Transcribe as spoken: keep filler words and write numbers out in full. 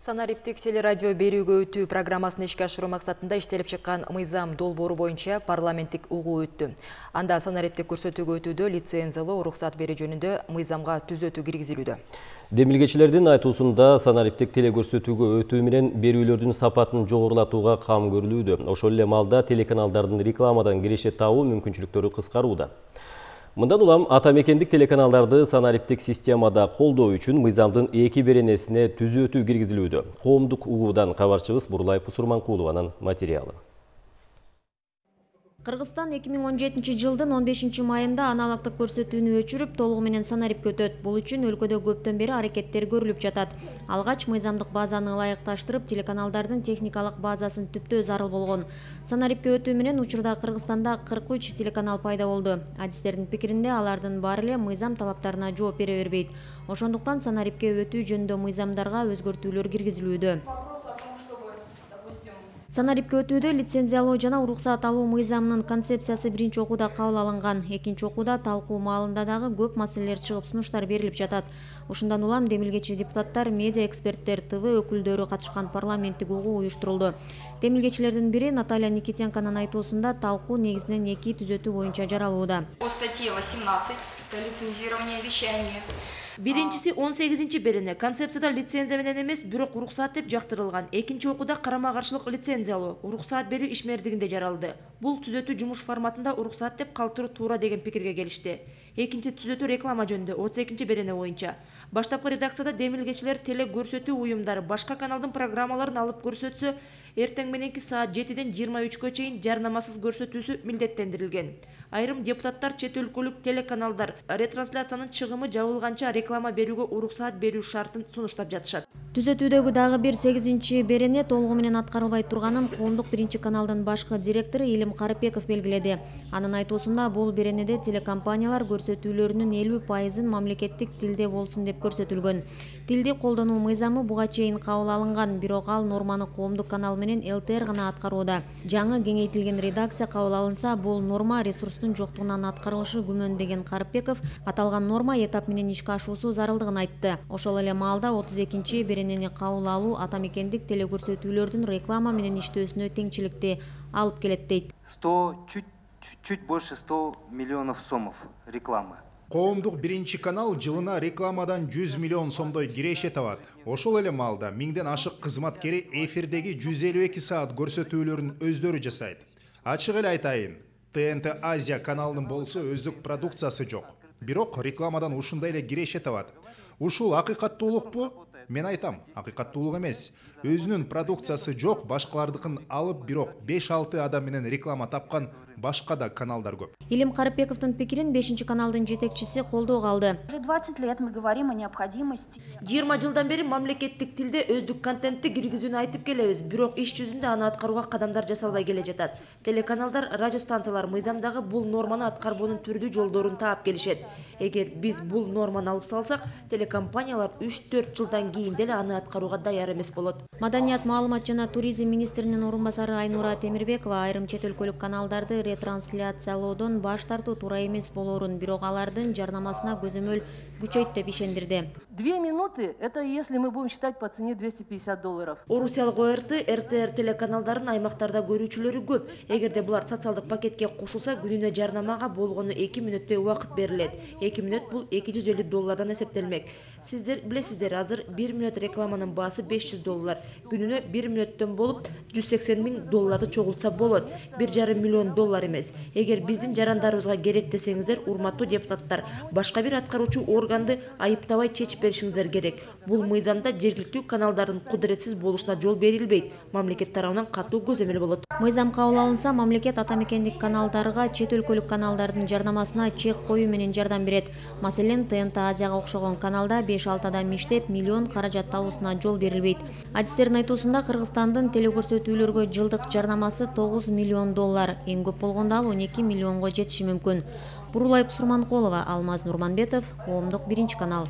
Санариптик телерадио берүүгө өтүү программасын ишке ашыруу максатында иштелип чыккан мыйзам долбоору боюнча парламенттик угуу өттү. Анда санариптик көрсөтүүгө өтүүдө лицензиялоо уруксат берүү жөнүндө мыйзамга түзөтүү киргизилүүдө. Демилгечилердин айтуусунда санариптик телекөрсөтүүгө өтүү менен берүүлөрдүн сапатын жогорулатууга кам көрүлүүдө. Ошол эле маалда телеканалдардын рекламадан киреше табуу мүмкүнчүлүктөрү кыскарууда. Мындан улам ата мекендик телеканалдарды санариптик системада колдоо үчүн мыйзамдын эки беренесине түзөтүү киргизилүүдө. Коомдук угуудан кабарчыбыз Бурлай Пусурманкулованын материалы. Кыргызстан эки миң он жетинчи жылдын он бешинчи майында аналогдук көрсөтүүнү өчүрүп, толугу менен санарипке өтөт. Бул үчүн өлкөдө көптөн бери аракеттер көрүлүп жатат. Алгач мыйзамдык базаны ылайыкташтырып, телеканалдардын техникалык базасын түптөө зарыл болгон. Санарипке өтүү менен учурда Кыргызстанда кырк үч телеканал пайда болду. Адистердин пикиринде алардын баары эле мыйзам талаптарына жооп бере бербейт. Ошондуктан санарипке өтүү жөнүндө мыйзамдарга өзгөртүүлөр киргизилүүдө. Санарипке өтүүдө лицензиялоо жана уруксат алуу мыйзамынын концепциясы биринчи окууда кабыл алынган. Экинчи окууда талкуу маалында дагы көп маселелер чыгып, сунуштар берилип жатат. Ушундан улам демилгечи депутаттар, медиа эксперттер, ТВ өкүлдөрү катышкан парламенттик угуу уюштурулду. Демилгечилердин бири Наталья Никитенконун айтуусунда талкуу негизинен эки түзөтүү боюнча жаралууда. По статье восемнадцать это лицензирование вещания. Биринчиси он сегизинчи берене концепцияда лицензия менен эмес, бирок уруксат деп жактырылган. Экинчи окууда карама-каршылык лицензиялоо, уруксат берүү ишмердигинде жаралды. Бул түзөтүү жумуш форматында уруксат деп калтыруу туура деген пикирге келишти. Экинчи түзөтүү реклама жөнүндө отуз экинчи берене боюнча. Баштапкы редакцияда демилгечилер теле көрсөтүү уюмдары башка каналдын программаларын алып көрсөтсө, эртең мененки саат жетиден жыйырма үчкө чейин жарнамасыз көрсөтүүсү милдеттендирилген. Айрым депутаттар чет өлкөлүк телеканалдар ретрансляциянын чыгымы жабылганча реклама берүүгө уруксат берүү шартын сунуштап жатышат. Түзөтүүдөгү дагы бир сегизинчи берене толугу менен аткарылбай турганын коомдук биринчи каналдын башкы директору Илим Карыпбеков белгиледи. Анын айтуусунда бул беренеде телекомпаниялар көрсөтүүлөрүнүн элүү пайызын мамлекеттик тилде болсун деп көрсөтүлгөн. Тилди колдонуу мыйзамы буга чейин кабыл алынган, бирок ал норманы коомдук канал менен эл тэ эр гана аткарууда. Жаңы кеңейтилген редакция кабыл алынса, бул норма ресурстун жоктугунан аткарылышы күмөн деген Карыпбеков аталган норма этап менен ишке ашуусу зарылдыгын айтты. Ошол эле маалда отуз экинчи беренени кабыл алуу ата мекендик телекөрсөтүүлөрдүн реклама менен иштөөсүнө теңчиликти алып келет дейт. сто чуть чуть больше ста миллионов сомов рекламы. Коомдук биринчи канал жылына рекламадан жүз миллион сомдой киреше табат. Ошол эле маалда миңден ашык кызматкери эфирдеги жүз элүү эки саат көрсөтүүлөрүн өздөрү жасайт. Ачык эле айтайын, тэ эн тэ Азия каналынын болсо өздүк продукциясы жок. Бирок рекламадан ушундай эле киреше табат. Ушул акыйкаттуулукпу? Мен айтам, акыйкаттуулук эмес. Өзүнүн продукциясы жок, башкалардыкын алып, бирок беш алты адам менен реклама тапкан башка да каналдар көп. Илим Карыпбековдун пикирин бешинчи каналдын жетекчиси колдоого алды. Уже двадцать лет мы говорим о необходимости. жыйырма жылдан бери мамлекеттик тилде өздүк контентти киргизүүнү айтып келебиз, бирок иш жүзүндө аны аткарууга кадамдар жасалбай келе жатат. Телеканалдар, радиостанциялар мыйзамдагы бул норманы аткарбоонун түрдүү жолдорун таап келишет. Эгер биз бул норманы алып салсак, телекомпаниялар үч төрт жылдан кийин деле аны аткарууга даяр эмес болот. Маданият, маалымат жана туризм министринин орун басары Айнура Темирбекова айрым чет өлкөлүк каналдарды ретрансляциялоодон баш тартуу туура эмес болоорун, бирок алардын жарнамасына көзөмөл күчөйт деп ишендирди. Две минуты – это если мы будем считать по цене двести пятьдесят долларов. Орусиялык о эр тэ, эр тэ эр телеканалдарын аймактарда көрүүчүлөрү көп. Эгерде булар социалдык пакетке кошулса, күнүнө жарнамага болгону эки мүнөттөй убакыт берилет. эки мүнөт бул эки жүз элүү доллардан эсептелмек. Сиздер билесиздер, азыр бир мүнөт рекламанын баасы беш жүз доллар. Күнүнө бир мүнөттөн болуп жүз сексен миң долларды чогултса болот. бир жарым миллион доллар эмес. Эгер биздин жарандарыбызга керек десеңиздер, урматтуу депутаттар, башка бир аткаруучу органды айыптабай чечип беришиңиздер керек. Бул мыйзамда жергиликтүү каналдардын кудуретсиз болушуна жол берилбейт. Мамлекет тарабынан катуу көзөмөл болот. Мыйзам кабыл алынса, мамлекет ата мекендик каналдарга чет өлкөлүк каналдардын жарнамасына чек коюу менен жардам берет. Маселен, тэ эн тэ Азияга окшогон каналда беш алты адам иштеп, миллион каражат табуусуна жол берилбейт. Адистердин айтуусунда Кыргызстандын телекөрсөтүүлөргө жылдык жарнамасы тогуз миллион доллар, эң көп болгондо ал он эки миллионго жетиши мүмкүн. Бурлай Пусурманкулова, Алмаз Нурманбетов, Коомдук биринчи канал.